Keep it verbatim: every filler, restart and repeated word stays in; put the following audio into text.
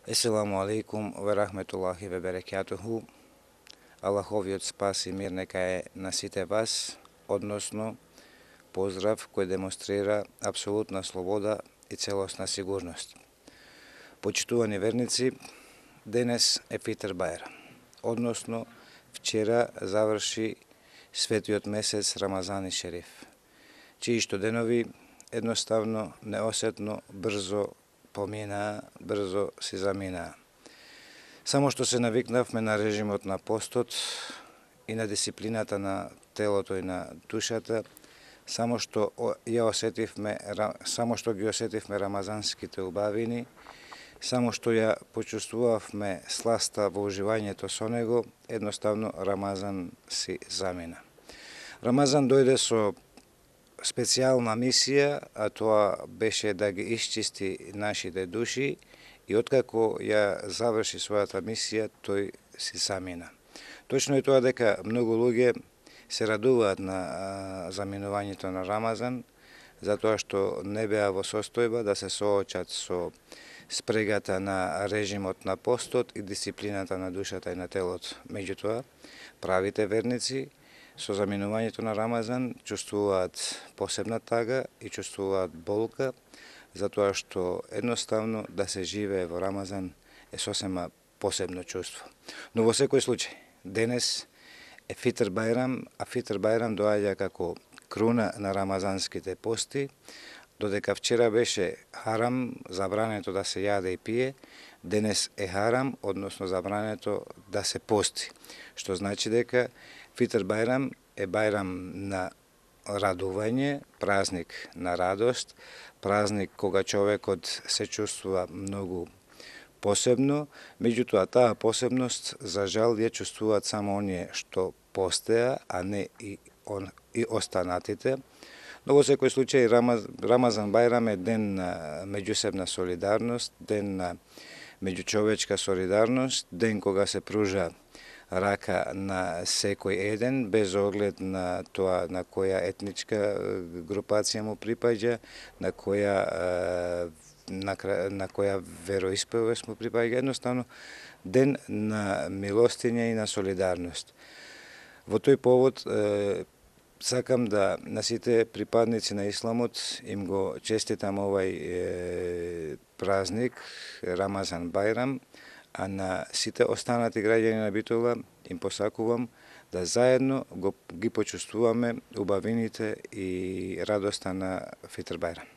Еселаму алейкум ве рахметуллахи ве берекатуху. Аллаховиот спас и мир нека е на сите вас, односно поздрав кој демонстрира апсолутна слобода и целосна сигурност. Почитувани верници, денес е Фитр Бајрам, односно вчера заврши светиот месец Рамазан Шериф, чии што денови едноставно, неосетно, брзо поминаа, брзо си заминаа. Само што се навикнавме на режимот на постот и на дисциплината на телото и на душата, само што ја осетивме, само што ги осетивме рамазанските убавини, само што ја почувствувавме сласта во уживањето со него, едноставно Рамазан си замина. Рамазан дојде со специјална мисија, а тоа беше да ги исчисти нашите души и откако ја заврши својата мисија, тој си замина. Точно е тоа дека многу луѓе се радуваат на заминувањето на Рамазан, затоа што не беа во состојба да се соочат со спрегата на режимот на постот и дисциплината на душата и на телото. Меѓутоа, правите верници со заминувањето на Рамазан чувствуваат посебна тага и чувствуваат болка, затоа што едноставно да се живее во Рамазан е сосема посебно чувство. Но во секој случај, денес е Фитр Бајрам, а Фитр Бајрам доаѓа како круна на рамазанските пости, додека вчера беше харам, забрането да се јаде и пие, денес е харам, односно забрането да се пости, што значи дека Фитр Бајрам е бајрам на радување, празник на радост, празник кога човекот се чувствува многу посебно, меѓутоа таа посебност за жал ја чувствуваат само оние што постеа, а не и, он, и останатите. Но во секој случај Рамазан Бајрам е ден на меѓусебна солидарност, ден на меѓучовечка солидарност, ден кога се пружа рака на секој еден, без оглед на тоа на која етничка групација му припаѓа, на која на, на која вероисповест му припаѓа, едноставно ден на милостиња и на солидарност. Во тој повод сакам да на сите припадници на исламот им го честитам овај е, празник Рамазан Бајрам, а на сите останати граѓани на Битола им посакувам да заедно го, ги почувствуваме убавините и радоста на Фитр Бајрам.